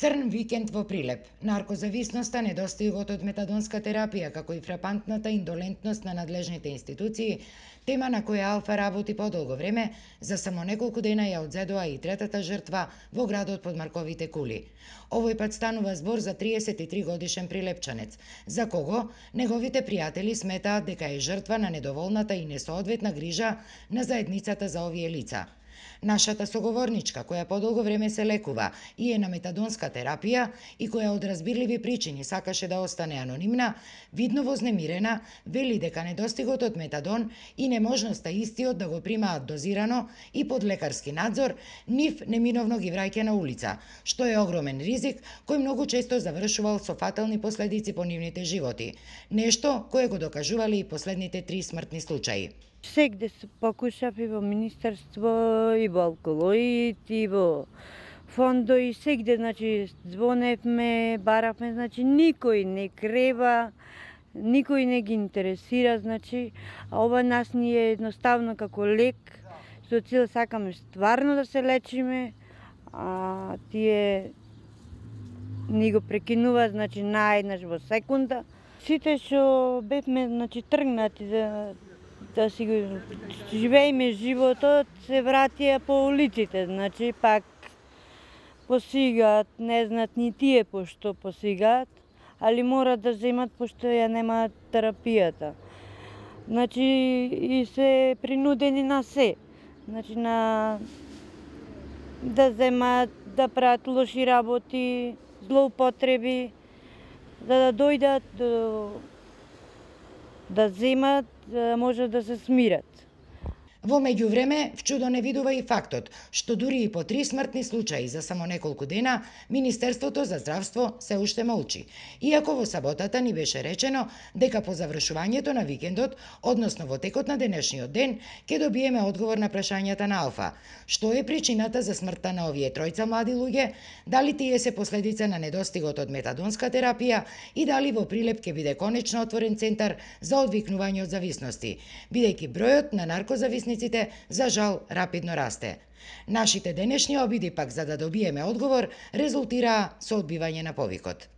Црн викенд во Прилеп. Наркозависноста, недостигот од метадонска терапија, како и фрапантната индолентност на надлежните институции, тема на која Алфа работи подолго време, за само неколку дена ја одзедоа и третата жртва во градот под Марковите кули. Овој пат станува збор за 33 годишен прилепчанец, за кого неговите пријатели сметаат дека е жртва на недоволната и несоодветна грижа на заедницата за овие лица. Нашата соговорничка, која подолго време се лекува и е на метадонска терапија и која од разбирливи причини сакаше да остане анонимна, видно вознемирена, вели дека недостигот од метадон и неможноста истиот да го примаат дозирано и под лекарски надзор, нив неминовно ги враќа на улица, што е огромен ризик кој многу често завршувал со фатални последици по нивните животи. Нешто кое го докажувале и последните 3 смртни случаи. Сегде се покушав и во министерство, и во алколоид, и во фондо, и сегде, звоневме, баравме, никој не крева, никој не ги интересира, а ова нас ни е едноставно како лек, со цел сакаме стварно да се лечиме, а тие ни го прекинуваат, наеднаш во секунда. Сите што бевме, тргнати да си го живееме животот, се вратија по улиците, пак посигаат, не знаат ни тие пошто посигаат, али мора да земат пошто ја немаат терапијата. И се принудени на се, да земат, да прават лоши работи, злоупотреби, да дојдат да земат, да може да се смират. Во меѓувреме, вчудо не видува и фактот што дури и по 3 смртни случаи за само неколку дена, Министерството за здравство се уште молчи. Иако во саботата ни беше речено дека по завршувањето на викендот, односно во текот на денешниот ден, ќе добиеме одговор на прашањата на Алфа. Што е причината за смртта на овие тројца млади луѓе, дали тие се последица на недостигот од метадонска терапија и дали во Прилеп ќе биде конечно отворен центар за одвикнување од зависности, бидејќи бројот на наркозависниците за жал рапидно расте. Нашите денешни обиди пак за да добиеме одговор резултираа со одбивање на повикот.